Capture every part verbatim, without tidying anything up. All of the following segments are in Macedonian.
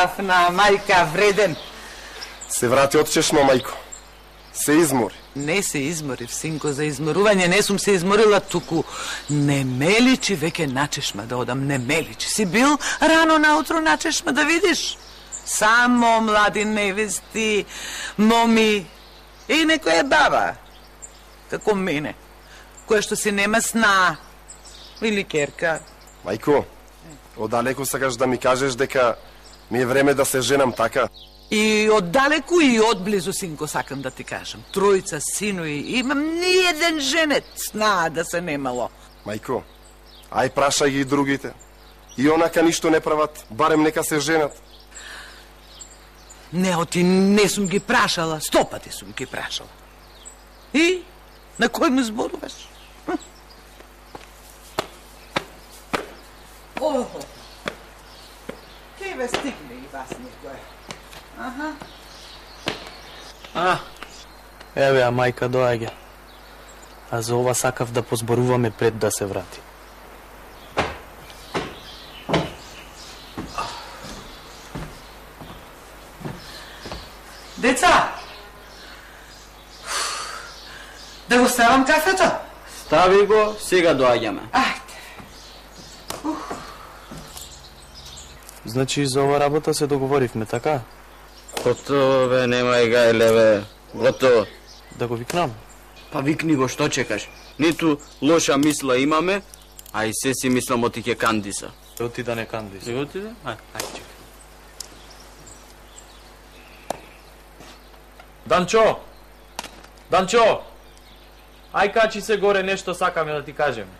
гледав на мајка вреден. Се врати од чешма, мајко. Се измори. Не се изморив, синко, за изморување не сум се изморила, туку не ме личи веќе на чешма да одам, не ме личи. Си бил рано наутро на чешма да видиш? Само млади невести, моми и некоја баба, како мене, која што си нема сна, или керка. Мајко, одалеку сакаш да ми кажеш дека ми е време да се женам, така? И оддалеку и одблизу, синко, сакам да ти кажам. Тројца синови, имам ниеден женет сна да се немало. Мајко, ај прашај ги и другите. И онака ништо не прават, барем нека се женат. Не, оти не сум ги прашала, сто пати сум ги прашала. И? На кој му зборуваш? Охо, кеј ве стигне и вас некој. Аха. А, еве, а мајка доаѓа. А за ова сакав да позборуваме пред да се врати. Деца, да го ставам кафето? Стави го, сега доаѓаме. Ајде. Значи, за ова работа се договоривме, така? Готово, бе, немај гајле, бе. Готово. Да го викнам? Па викни го, што чекаш? Ниту лоша мисла имаме, а и се си мислам оти ке кандиса. Се отида не кандиса. Се отиде? Ај, ајде, чекай. Данчо! Данчо! Ај качи се горе, нешто сакаме да ти кажеме.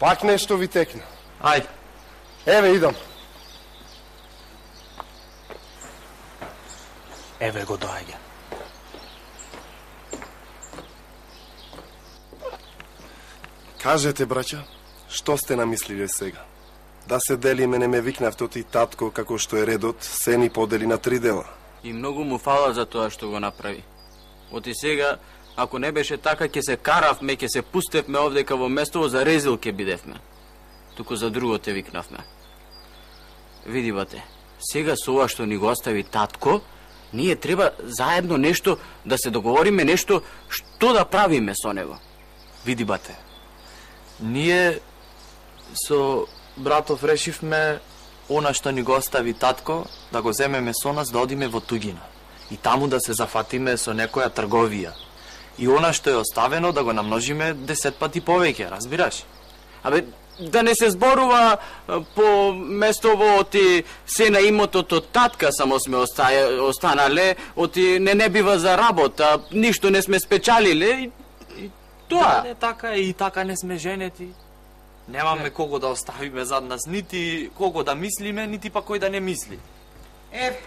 Пак нешто ви текна. Ајде. Еве, идам. Еве го доаѓа. Кажете, браќа, што сте намислиле сега? Да се делиме, не ме викнавте оти татко, како што е редот, се ни подели на три дела. И многу му фала за тоа што го направи. Оти сега, ако не беше така, ќе се каравме, ќе се пустевме овдека во местово, за резил ќе бидевме. Туку за друго те викнавме. Види, бате, сега со ова што ни го остави татко, ние треба заедно нешто, да се договориме нешто, што да правиме со него. Види, бате, ние со братов решивме она што ни го остави татко, да го земеме со нас, да одиме во туѓина. И таму да се зафатиме со некоја трговија. И она што е оставено да го намножиме десет пати повеќе, разбираш? Абе, да не се зборува по местово оти се на имотот од татка само сме останале, оти не не бива за работа, ништо не сме спечалиле и, и тоа. Да, не, така е, и така не сме женети. Немаме не. Кого да оставиме зад нас, нити кого да мислиме, нити па кој да не мисли. Еве,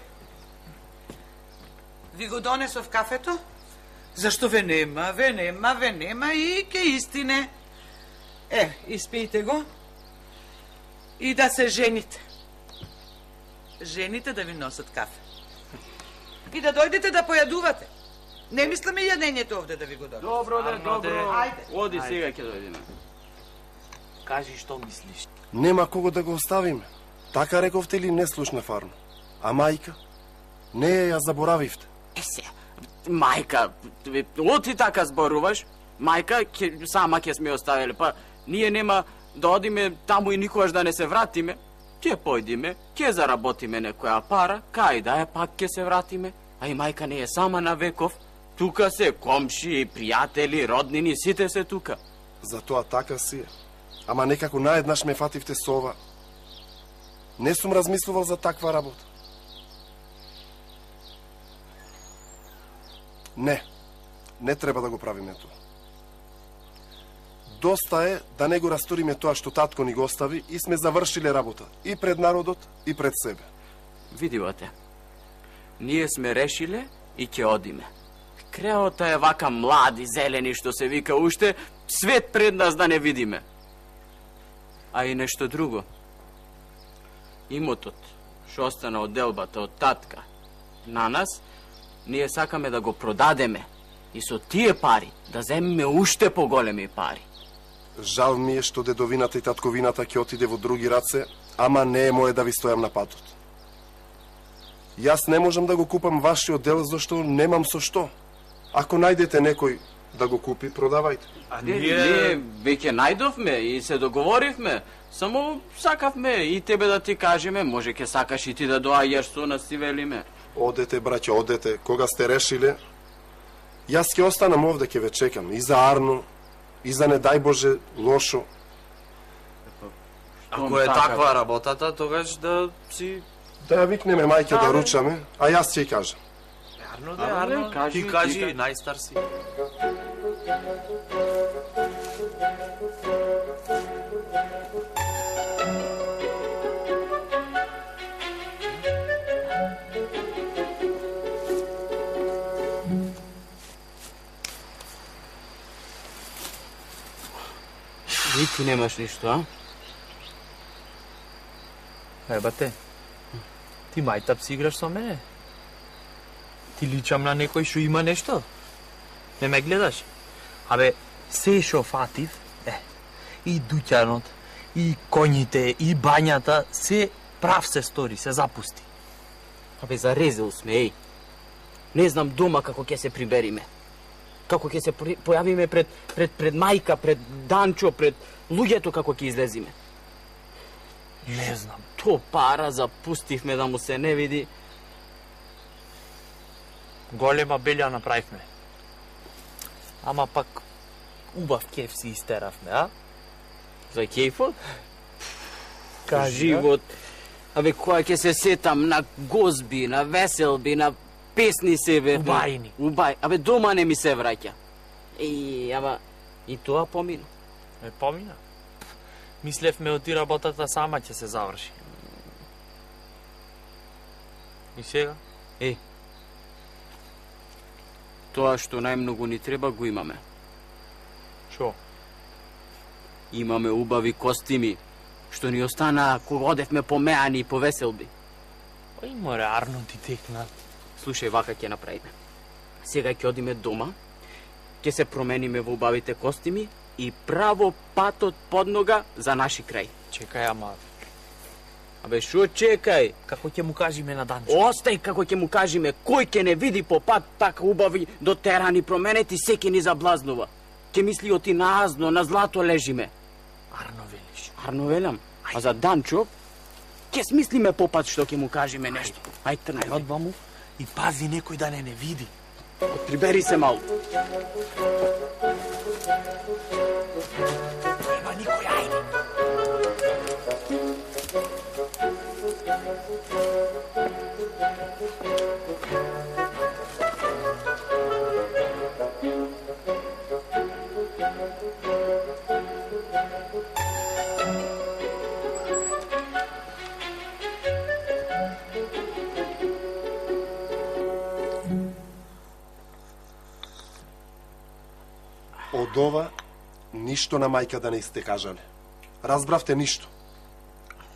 ви го донесов кафето? Зашто ве нема, ве нема, ве нема и ке истине. Е, испијте го и да се жените. Жените да ви носат кафе. И да дојдете да појадувате. Не мислиме јадењето овде да ви го донесат. Добро, да, добро. Ајде. Оди сега ќе дојдеме. Кажи што мислиш. Нема кого да го оставиме. Така рековте ли не слушна фарно? А мајка? Не ја заборавивте. Се, мајка, оти така зборуваш? Мајка, ке, сама ќе сме оставили, па ние нема да одиме таму и никогаш да не се вратиме. Ќе појдиме, ќе заработиме некоја пара, кај да е пак ќе се вратиме. А и мајка не е сама на веков. Тука се комши, пријатели, роднини, сите се тука. Затоа така си е. Ама некако наеднаш ме фативте со ова. Не сум размислувал за таква работа. Не, не треба да го правиме тоа. Доста е да не го расториме тоа што татко ни го остави и сме завршиле работа и пред народот и пред себе. Видивате, ние сме решиле и ќе одиме. Креота е вака млади, зелени, што се вика уште, свет пред нас да не видиме. А и нешто друго. Имотот, што остана од делбата од татка, на нас, ние сакаме да го продадеме и со тие пари да земеме уште поголеми пари. Жал ми е што дедовината и татковината ќе отиде во други раце, ама не е моје да ви стојам на патот. Јас не можам да го купам вашиот дел, зашто немам со што. Ако најдете некој да го купи, продавајте. А ние... ние веќе најдовме и се договоривме. Само сакавме и тебе да ти кажеме, може ке сакаш и ти да доаѓаш со нас, си велиме. Одете, браќа, одете. Кога сте решиле, јас ќе останам овде, ќе ве чекам. И за Арно, и за не дај Боже лошо. Ако е таква работата, тогаш да си... Да ја викнеме мајке да ручаме, а јас ќе ја кажам. Арно, да, Арно, кажи, ти кажи, ти... најстар си. И ти немаш ништо, а? Ебате, ти мајтап си играш со мене? Ти личам на некој што има нешто? Не ме гледаш? Абе, се шо фатив, е, и дуќанот, и коњите, и бањата, се прав се стори, се запусти. Абе, зарезил сме, еј. Не знам дома како ќе се прибериме. Како ќе се појавиме пред, пред, пред мајка, пред Данчо, пред луѓето како ќе излезиме. Не знам. То пара запустивме да му се не види. Голема белја направивме. Ама пак убав кеф си истеравме, а? За кефот? Кажи, живот. Абе, која ќе се сетам на гозби, на веселби, на песни себе. Убајни. Убај. Абе, дома не ми се враќа. И, ама, и тоа помина. Е, помина. Мислевме оти работата сама ќе се заврши. И сега? Е, тоа што најмногу ни треба го имаме. Шо? Имаме убави костими, што ни остана кога одевме по меани и по веселби. Ој, море, Арно ти текна. Слушај, вака ќе направиме. Сега ќе одиме дома, ќе се промениме во убавите костими и право патот под нога за наши крај. Чекај, ама... Абе, шо чекај? Како ќе му кажеме на Данчо? Остај како ќе му кажеме, кој ќе не види по пат така убави дотерани променети, секи ни заблазнува. Ќе мисли оти на азно, на злато лежиме. Арно велиш. Арно велам. А за Данчо, ќе смислиме по пат што ќе му кажеме нешто. Ај трнај. Одба му и пази некој да не не види. Прибери се малку. Нема никој, ајде. Од ова, ништо на мајка да не сте кажале. Разбравте ништо.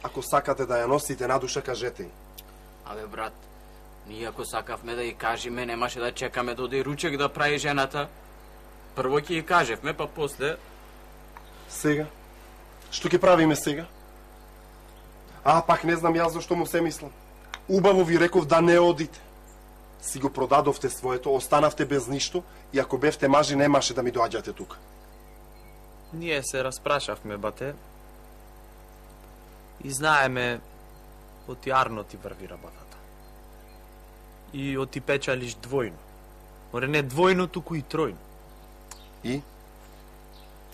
Ако сакате да ја носите на душа, кажете им. Абе, брат, ние ако сакавме да ја кажеме, немаше да чекаме да оди ручек да прави жената. Прво ќе ја кажевме, па после... Сега? Што ќе правиме сега? А, пак не знам јас зашто му се мислам. Убаво ви реков да не одите. Си го продадовте своето, останавте без ништо и ако бевте мажи, немаше да ми доаѓате тука. Ние се распрашавме, бате. И знаеме, оти Арно ти врви работата. И оти печалиш двојно. Море не двојно, туку и тројно. И?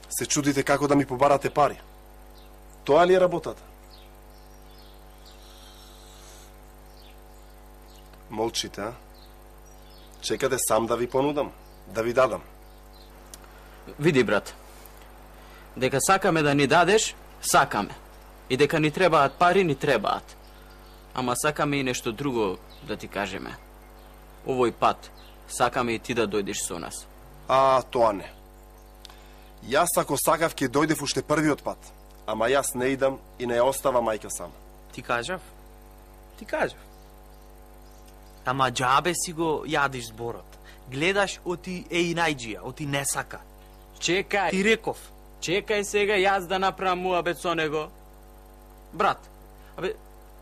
Се чудите како да ми побарате пари. Тоа ли е работата? Молчите, а? Чекате сам да ви понудам, да ви дадам. Види, брат, дека сакаме да ни дадеш, сакаме. И дека ни требаат пари, ни требаат. Ама сакаме и нешто друго да ти кажеме. Овој пат, сакаме и ти да дојдеш со нас. А, тоа не. Јас ако сакав ќе дојдев уште првиот пат, ама јас не идам и не ја остава мајка сама. Ти кажав? Ти кажав. Ама џабе си го јадиш зборот. Гледаш оти е и најджија, оти не сака. Чекај. Ти реков. Чекај сега јас да направам муабет со него. Брат, абе,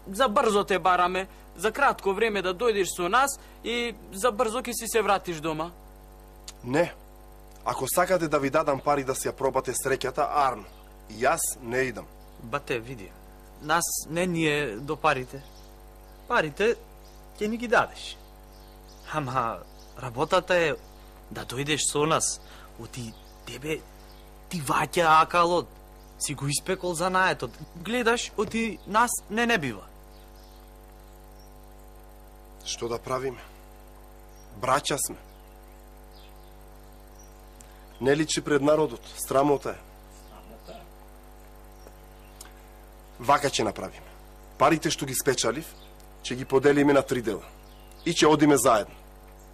за брзо те бараме, за кратко време да дојдеш со нас и за брзо ќе си се вратиш дома. Не. Ако сакате да ви дадам пари да си ја пробате среќата, арно. И јас не идам. Бате, види, нас не ни е до парите. Парите ќе ни ги дадеш. Ама работата е да дојдеш со нас, оти тебе ти ваќа акалот, си го испекол за наетот. Гледаш, оти нас не не бива. Што да правиме? Браќа сме. Не личи пред народот, срамота е. Вака ќе направиме. Парите што ги спечалив, ќе ги поделиме на три дела. И ќе одиме заедно.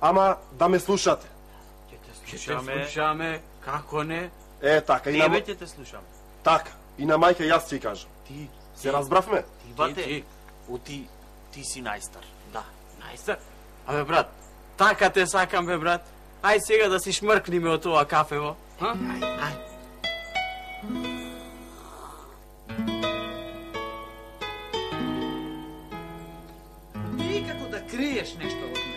Ама да ме слушате. Ќе те слушаме, како не? Е, така, и на... Тебе ќе те слушам. Така, и на мајка јас ќе кажам. Ти, Се разбравме? ти бате, ти. оти ти си најстар. Да. Најстар? Абе, брат, така те сакам, бе, брат. Ај сега да си шмркниме од тоа кафево. Ха? Ај, ај. Ти како да криеш нешто од мене.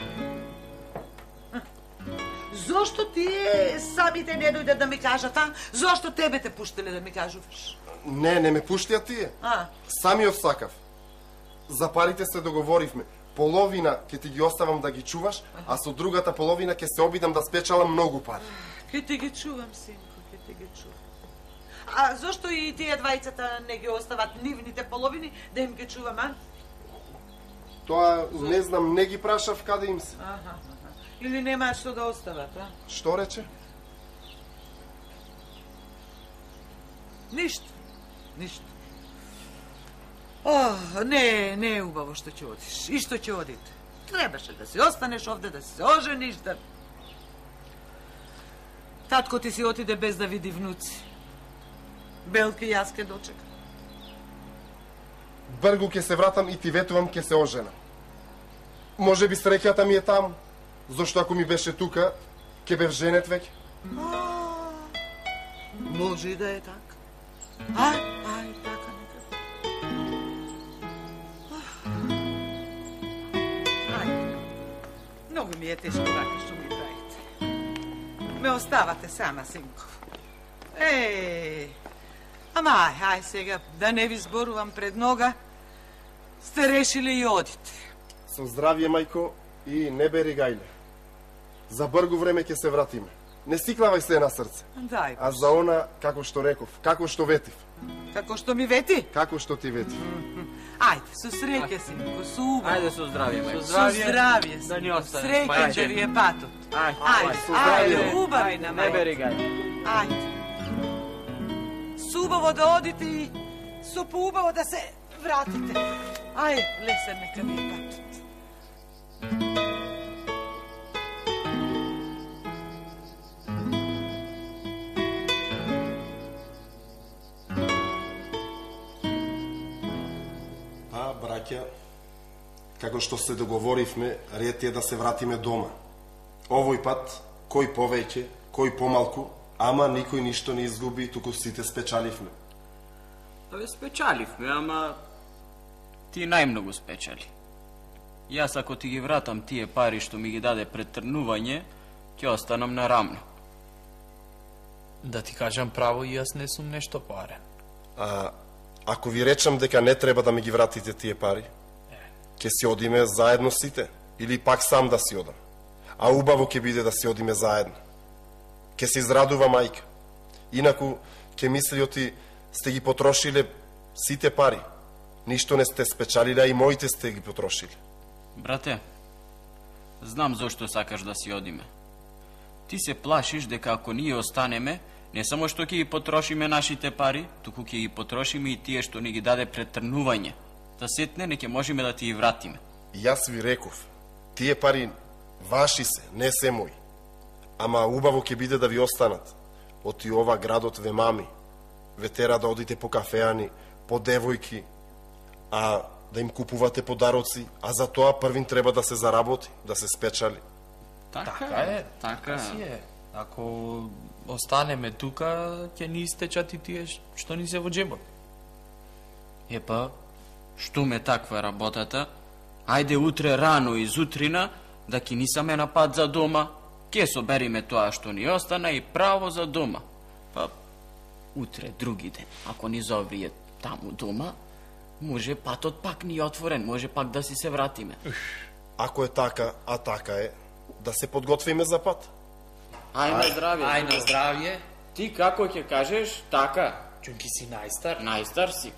Зошто тие самите не дојдат да ми кажат, а? Зошто тебе те пуштеле да ми кажуваш? Не, не ме пуштија тие. А? Самиот сакав. За парите се договоривме. Половина ќе ти ги оставам да ги чуваш, а со другата половина ќе се обидам да спечалам многу пари. Ке ти ги чувам, синко, ке ти ги чувам. А зошто и тие двајцата не ги остават нивните половини да им ги чувам, а? Тоа, не знам, не ги прашав каде им се. Аха, аха. Или немаат што да остават, а? Што рече? Ништо, ништо. О, не, не е убаво што ќе одиш. И што ќе одите. Требаше да си останеш овде, да се ожениш, да... Татко ти си отиде без да види внуци. Белки јас ке дочека. Бргу ќе се вратам и ти ветувам ќе се оженам. Може би среќата ми е таму, зашто ако ми беше тука, ќе бев женет веќе. Може и да е така. Ај, ај, така нека. Ај, многу ми е тешко вака што ми правите. Ме оставате сама, синко. Еј, ама ај, ај сега, да не ви зборувам пред нога, сте решили и одите. Со здравје, мајко, и не бери гајле. За бргу време ќе се вратиме. Не сиклавај се на срце. Дај, А за она, како што реков, како што ветив, како што ми вети? како што ти ветив. Ајде, со среќа, синко, со убаво. Ајде со здравје, мајко. Со здравје, Да ни остане. Среќен ќе ви е патот. Ај, Ајде, со ајде, здравје. убави на Не мајка. бери гај. Ајде. Субаво да одите и со поубаво да се вратите. Ај, лесен нека ви е патот. А, браќа, како што се договоривме, ред е да се вратиме дома. Овој пат, кој повеќе, кој помалку, ама никој ништо не изгуби, туку сите спечаливме. Абе, спечаливме, ама ти најмногу спечали. Јас ако ти ги вратам тие пари што ми ги даде пред трнување, ќе останам на рамно. Да ти кажам право, и јас не сум нешто парен. А ако ви речам дека не треба да ми ги вратите тие пари, ќе си одиме заедно сите, или пак сам да си одам. А убаво ќе биде да си одиме заедно. Ќе се израдува мајка. Инаку, ќе мисли оти сте ги потрошиле сите пари. Ништо не сте спечалиле, а и моите сте ги потрошили. Брате, знам зошто сакаш да си одиме. Ти се плашиш дека ако ние останеме, не само што ќе ги потрошиме нашите пари, туку ќе ги потрошиме и тие што ни ги даде пред трнување. Да сетне не ќе можеме да ти ги вратиме. И јас ви реков, тие пари ваши се, не се мои. Ама убаво ќе биде да ви останат. Оти ова градот ве мами. Ве тера да одите по кафеани, по девојки, а да им купувате подароци, а за тоа првин треба да се заработи, да се спечали. Така е, така си е. Ако останеме тука, ќе ни истечат и тие што ни се во джебот. Епа, што ме таква работата, Ајде утре рано изутрина да ки нисаме на пат за дома, ке собериме тоа што ни остана и право за дома. Па утре други ден, ако ни зоврие таму дома, може патот пак ни е отворен, може пак да си се вратиме. Ако е така, а така е, да се подготвиме за пат. Ај на здравје. Ај на здравје. Ти како ќе кажеш, така. Чунки си најстар. Најстар си.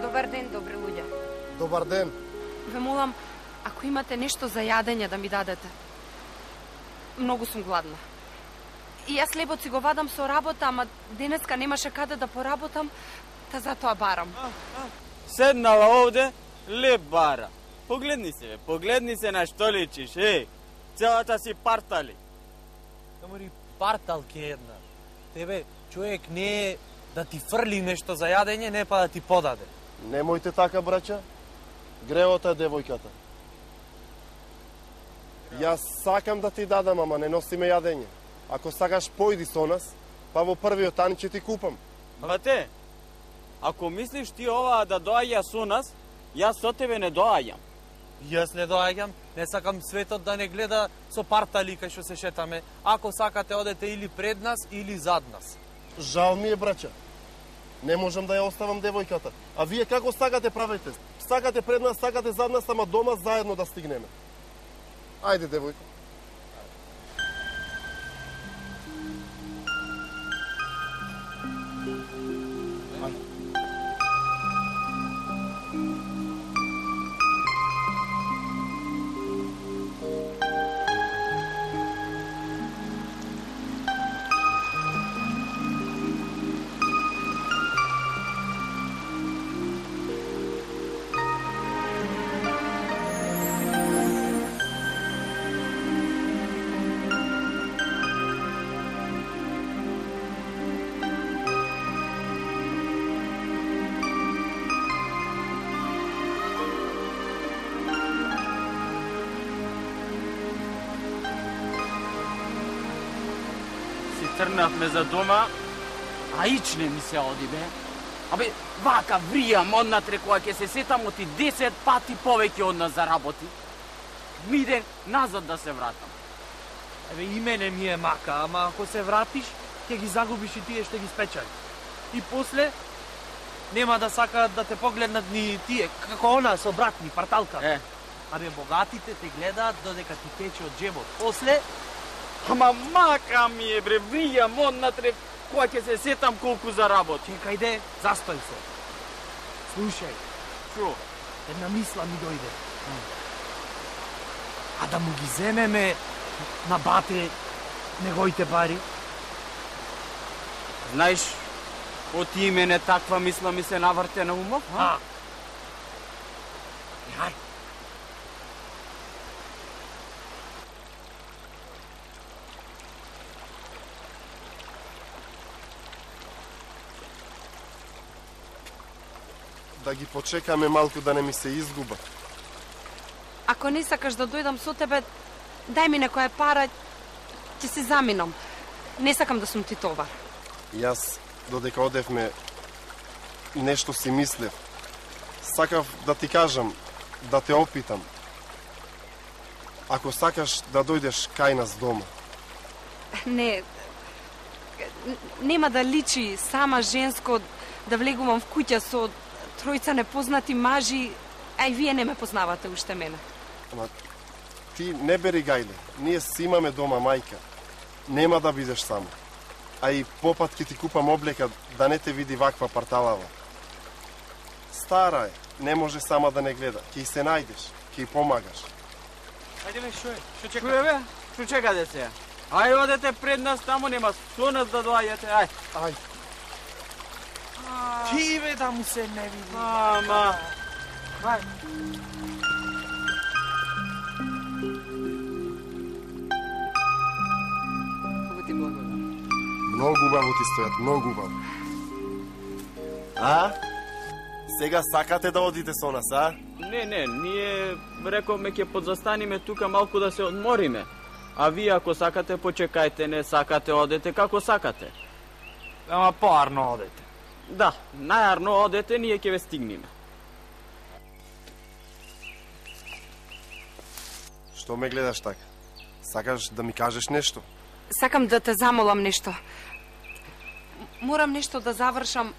Добар ден, добри луѓе. Добар ден. Ве молам, ако имате нешто за јадење да ми дадете. Многу сум гладна. И јас лебот си го вадам со работа, ама денеска немаше каде да поработам, та затоа барам. Седнала овде, леп бара. Погледни се, бе, погледни се на што личиш, еј. Целата си партали. Камари парталки една. Тебе човек не е да ти фрли нешто за јадење, не па да ти подаде. Немојте така, браќа. Греота е девојката. Јас сакам да ти дадам, ама не носиме јадење. Ако сакаш, појди со нас, па во првиот ан ќе ти купам. Бате, ако мислиш ти оваа да доаѓа со нас, јас со тебе не доаѓам. Јас не доаѓам, не сакам светот да не гледа со партали кај што се шетаме. Ако сакате, одете или пред нас, или зад нас. Жал ми е, браќа. Не можам да ја оставам девојката. А вие како сакате правете? Сакате пред нас, сакате зад нас, ама дома заедно да стигнеме. Ајде, девојка. Трнавме за дома, а ичне ми се оди, бе. Абе, вака вријам однатре кога ќе се сетам оти десет пати повеќе од нас заработи. Миден назад да се вратам. Еве и мене ми е мака, ама ако се вратиш, ќе ги загубиш и тие што ги спечали. И после нема да сакаат да те погледнат ни тие, како она со брат ни, парталка. Е. Абе, богатите те гледаат додека ти тече од џебот. После Ама мака ми е, бре, вријам однатре кога ќе се сетам колку заработи. чекај де, застој се. Слушај, Шо? една мисла ми дојде. А да му ги земеме на бате неговите пари? Знаеш, од ти мене таква мисла ми се наврте на умов, А? Јај. Да ги почекаме малку да не ми се изгуба. Ако не сакаш да дојдам со тебе, дај ми некоја пара, ќе се заминам. Не сакам да сум ти товар. Јас, додека одевме, нешто си мислев. Сакав да ти кажам, да те опитам. Ако сакаш да дојдеш кај нас дома. Не, нема да личи сама женско да влегувам в куќа со тројца непознати мажи, а и вие не ме познавате уште мене. Ама ти не бери гајле, ние си имаме дома мајка. Нема да бидеш само. А и попат ќе ти купам облека да не те види ваква парталава. Стара е, не може сама да не гледа. Ки се најдеш, ки помагаш. Ајде бе, шо е? Шо чека? Чуе бе? Шо чекате се? Ај одете пред нас, таму нема со нас да доаѓате. Ај. Ај. Ти бе да му се не види. Ама. Ај. Много ти благодарам. Многу убаво ти стојат, многу убаво. А? Сега сакате да одите со нас, а? Не, не, ние рековме ќе подзастаниме тука малку да се одмориме. А вие ако сакате почекајте, не сакате одете како сакате. Ама поарно одете. Да, најарно одете, ние ќе ве стигнеме. Што ме гледаш така? Сакаш да ми кажеш нешто? Сакам да те замолам нешто. М- Морам нешто да завршам.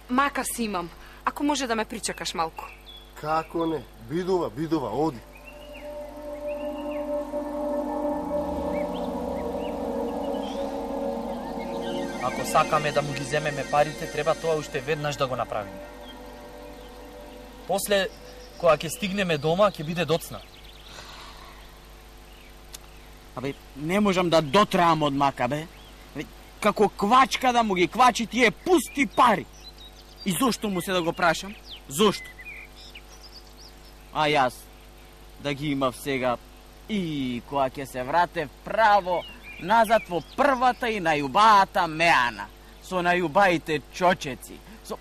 Мака си имам. Ако може да ме причекаш малку. Како не? Бидува, бидува, оди. Ако сакаме да му ги земеме парите, треба тоа уште веднаш да го направиме. После, кога ќе стигнеме дома, ќе биде доцна. Абе, не можам да дотраам од мака, бе. Абе, како квачка да му ги квачи тие пусти пари. И зошто му се да го прашам? Зошто? А јас да ги имав сега и кога ќе се вратев право назад во првата и најубаата меана, со најубаите чочеци, со...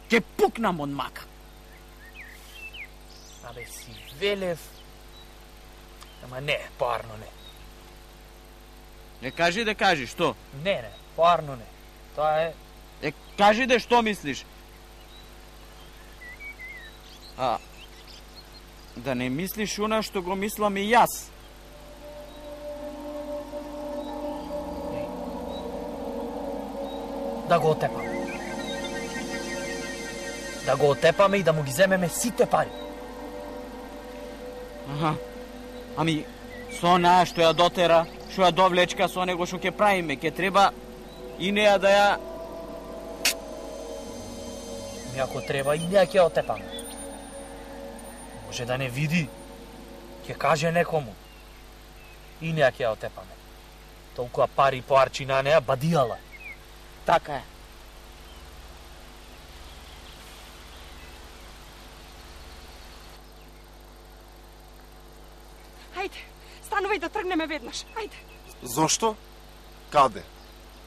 Ке пукнам од мака. Абе, си велев... Ама не, поарно не. Не кажи да кажи, што? Не, не, поарно не. Тоа е... Е, кажи да што мислиш. А, да не мислиш она што го мислам и јас. Да го отепаме. Да го отепаме и да му ги земеме сите пари. Аха. Ами, со она што ја дотера, што ја довлечка со него што ќе правиме, ќе треба и неа да ја... И ако треба, и неа ќе отепаме. Може да не види, ќе каже некому. И неа ќе отепаме. Толкова пари поарчи на неа, бадијала. Така е. Ајде, станувај да тргнеме веднаш. Ајде. Зошто? Каде?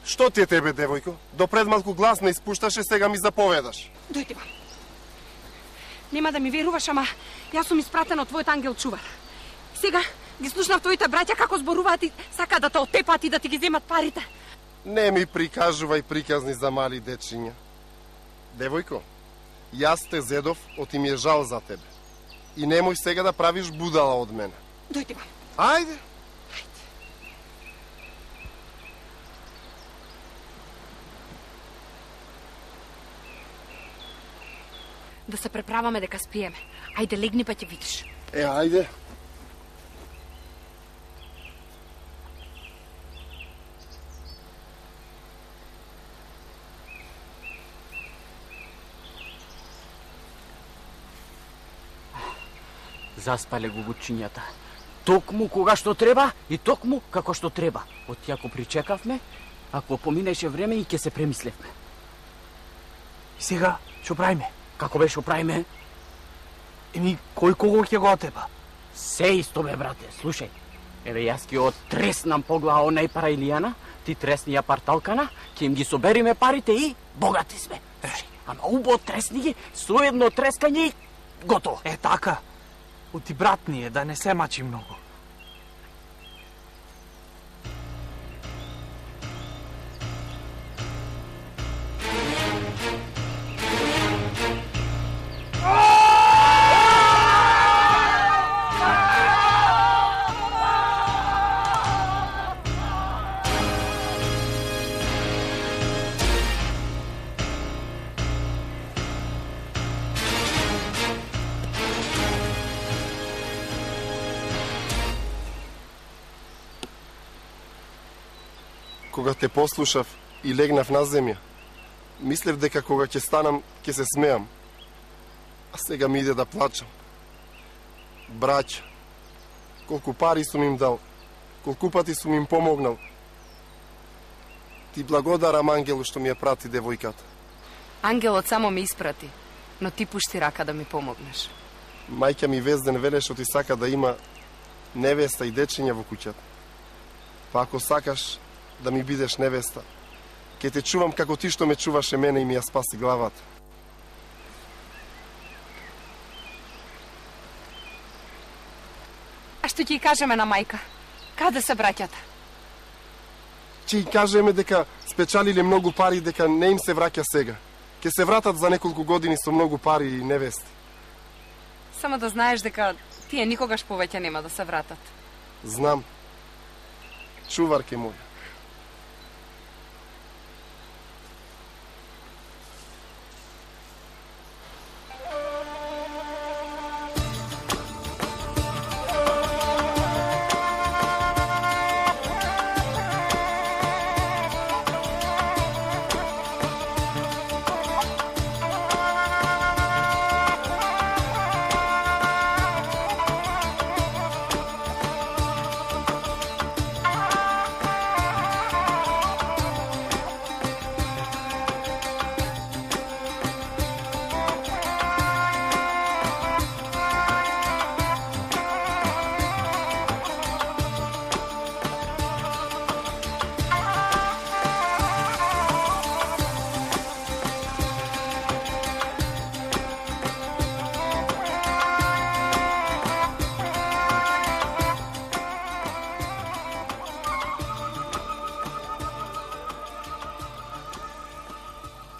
Што ти е тебе, девојко? До пред малку глас не испушташе, сега ми заповедаш. Дојди вам. Нема да ми веруваш, ама јас сум испратен од твојот ангел чувар. Сега ги слушнав твоите браќа како зборуваат и сака да те отепат и да ти ги земат парите. Не ми прикажувај приказни за мали дечиња. Девојко, јас те зедов, оти ми е жал за тебе. И немој сега да правиш будала од мене. Дојди вам. Ајде. Да се преправаме дека спиеме. Ајде, легни па ќе видиш. Е, ајде. Заспале го гучињата. Токму кога што треба и токму како што треба. Од ако причекавме, ако поминеше време и ќе се премислевме. И сега, што правиме? Како беше правиме? Еми, кој кого ќе го отепа? Се исто бе, брате, слушај. Еве јас ќе отреснам по глава онај пара Илијана, ти тресни ја парталкана, ќе им ги собериме парите и богати сме. Слушај, ама убаво тресни ги, со едно трескање и готово. Е, така. Оти брат ни е, да не се мачи многу. Кога те послушав, и легнав на земја. Мислев дека кога ќе станам, ќе се смеам. А сега ми иде да плачам. Браќа, колку пари сум им дал, колку пати сум им помогнал. Ти благодарам ангелу што ми ја прати девојката. Ангелот само ме испрати, но ти пушти рака да ми помогнеш. Мајка ми Везден веле што ти сака да има невеста и дечиња во куќата. Па ако сакаш да ми бидеш невеста, ќе те чувам како ти што ме чуваше мене и ми ја спаси главата. А што ќе кажеме на мајка? Каде се браќата? Ќе и кажеме дека спечалиле многу пари, дека не им се враќа сега. Ќе се вратат за неколку години со многу пари и невести. Само да знаеш дека тие никогаш повеќе нема да се вратат. Знам. Чуварке моја.